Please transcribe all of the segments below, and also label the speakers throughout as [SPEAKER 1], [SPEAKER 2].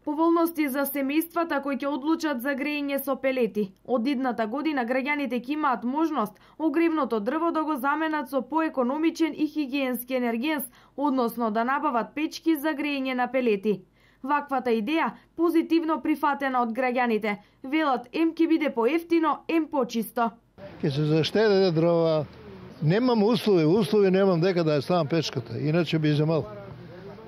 [SPEAKER 1] Поволности за семејствата кои ќе одлучат за грејење со пелети. Од идната година граѓаните ќе имаат можност огревното дрво да го заменат со поекономичен и хигиенски енергенс, односно да набават печки за грејење на пелети. Ваквата идеја позитивно прифатена од граѓаните. Велат, ем ќе биде поевтино, ем почисто.
[SPEAKER 2] Ќе се заштеде дрова. Немам услови немам дека да ја ставам печката, иначе би земал.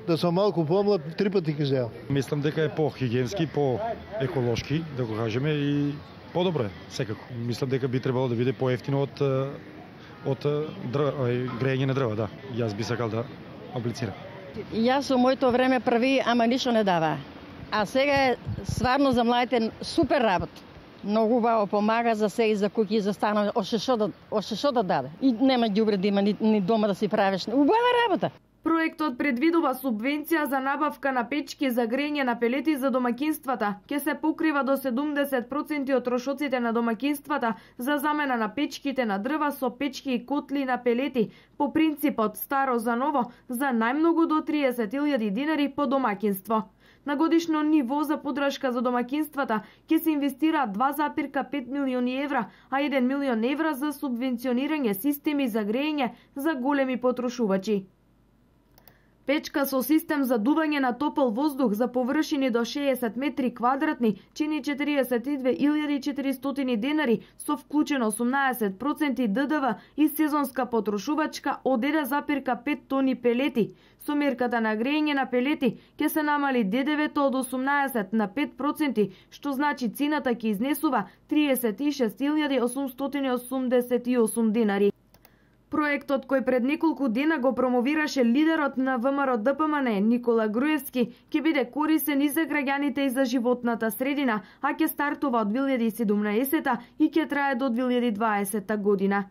[SPEAKER 2] Да сум малку помлад, 3 пати ќе земам.
[SPEAKER 3] Мислам дека е по-хигиенски, по-еколошки, да го кажеме, и подобро е, секако. Мислам дека би требало да биде поевтино од грејење на дрва, да. Јас би сакал да аплицирам.
[SPEAKER 4] Јас со моето време прави, ама ништо не дава. А сега е стварно за младите супер работа. Многу убаво помага за се и за куќи и за станови, още што да даде. И нема ѓубре да има ни дома да си правиш. Убава работа.
[SPEAKER 1] Проектот предвидува субвенција за набавка на печки за грејење на пелети за домаќинствата. Ке се покрива до 70% од трошоците на домаќинствата за замена на печките на дрва со печки и котли на пелети, по принципот старо за ново, за најмногу до 30.000 динари по домаќинство. На годишно ниво за поддршка за домаќинствата ќе се инвестира 2,5 милиони евра, а 1 милион евра за субвенционирање системи за грејење за големи потрошувачи. Печка со систем за дување на топол воздух за површини до 60 метри квадратни чини 42.400 денари со вклучено 18% ДДВ и сезонска потрошувачка од 1,5 тони пелети. Со мерката на грејење на пелети ќе се намали ДДВ-то од 18 на 5%, што значи цената ќе изнесува 36.888 денари. Проектот кој пред неколку дена го промовираше лидерот на ВМРО ДПМН Никола Груевски ќе биде корисен и за граѓаните и за животната средина, а ќе стартува од 2017 и ќе трае до 2020 година.